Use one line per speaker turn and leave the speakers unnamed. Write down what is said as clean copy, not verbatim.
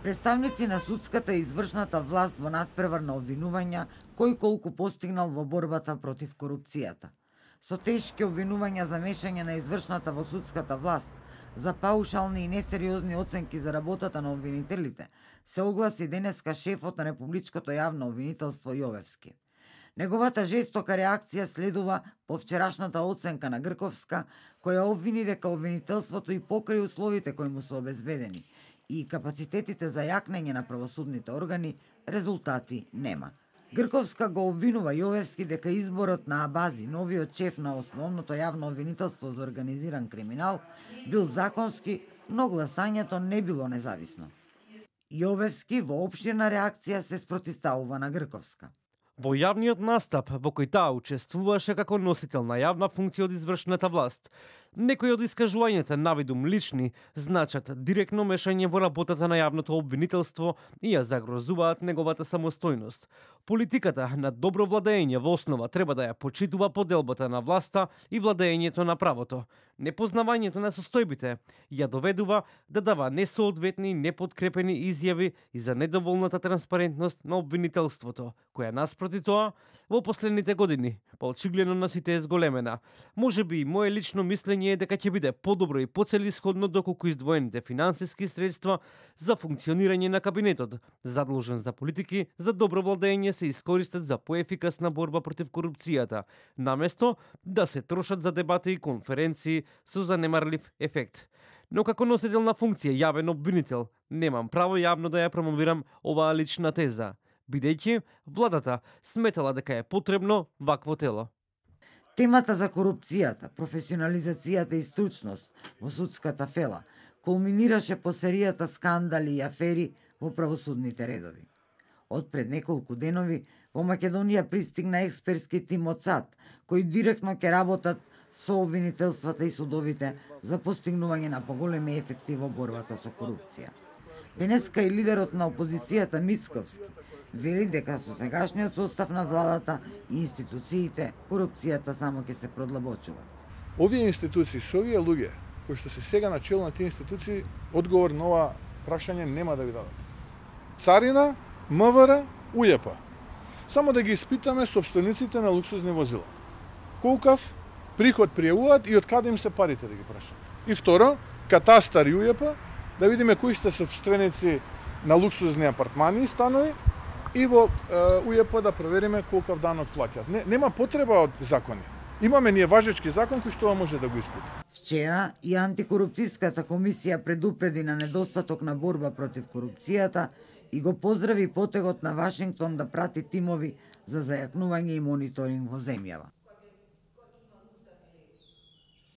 Представници на судската и извршната власт во надпревар на обвинувања кој колку постигнал во борбата против корупцијата. Со тешки обвинувања за мешање на извршната во судската власт, за паушални и несериозни оценки за работата на обвинителите, се огласи денеска шефот на Републичкото јавно обвинителство Јовевски. Неговата жестока реакција следува по вчерашната оценка на Грковска, која обвини дека обвинителството и покрај условите кои му се обезбедени и капацитетите за јакнење на правосудните органи, резултати нема. Грковска го обвинува Јовевски дека изборот на Абази, новиот шеф на основното јавно обвинителство за организиран криминал, бил законски, но гласањето не било независно. Јовевски во опширна реакција се спротивставува на Грковска.
Во јавниот настап, во кој таа учествуваше како носител на јавна функција од извршната власт, некои од искажувањата навидум лични значат директно мешање во работата на јавното обвинителство и ја загрозуваат неговата самостојност. Политиката на добро владење во основа треба да ја почитува поделбата на власта и владењето на правото. Непознавањето на состојбите ја доведува да дава несоодветни и неподкрепени изјави и за недоволната транспарентност на обвинителството, која наспроти тоа во последните години очигледно на сите е зголемена. Можеби и мое лично мислење е дека ќе биде подобро и поцелисходно доколку издвоените финансиски средства за функционирање на кабинетот, задолжен за политики за добро владење, се искористат за поефикасна борба против корупцијата, наместо да се трошат за дебати и конференции со занемарлив ефект. Но како носител на функција јавен обвинител, немам право јавно да ја промовирам оваа лична теза, бидејќи владата сметала дека е потребно вакво тело.
Темата за корупцијата, професионализацијата и стручност во судската фела кулминираше по серијата скандали и афери во правосудните редови. Од пред неколку денови во Македонија пристигна експертски тим од САД, кои директно ќе работат со обвинителствата и судовите за постигнување на поголеми ефекти во борбата со корупција. Денеска и лидерот на опозицијата Мицковски вели дека со сегашниот состав на владата и институциите корупцијата само ќе се продлабочува.
Овие институции, со овие луѓе кои што се сега на чело на тие институции, одговор на ова прашање нема да ви дадат. Царина, МВР, УЈП. Само да ги испитаме сопствениците на луксузни возила. Колкав приход пријавуваат и од каде им се парите, да ги прашаме. И второ, катастар и УЈП, да видиме кои сте сопственици на луксузни апартмани и станови, и во УЈП да провериме колкав данок плаќаат. Нема потреба од закони. Имаме ние важечки закон кој што може да го испита.
Вчера и антикорупцијската комисија предупреди на недостаток на борба против корупцијата и го поздрави потегот на Вашингтон да прати тимови за зајакнување и мониторинг во земјава.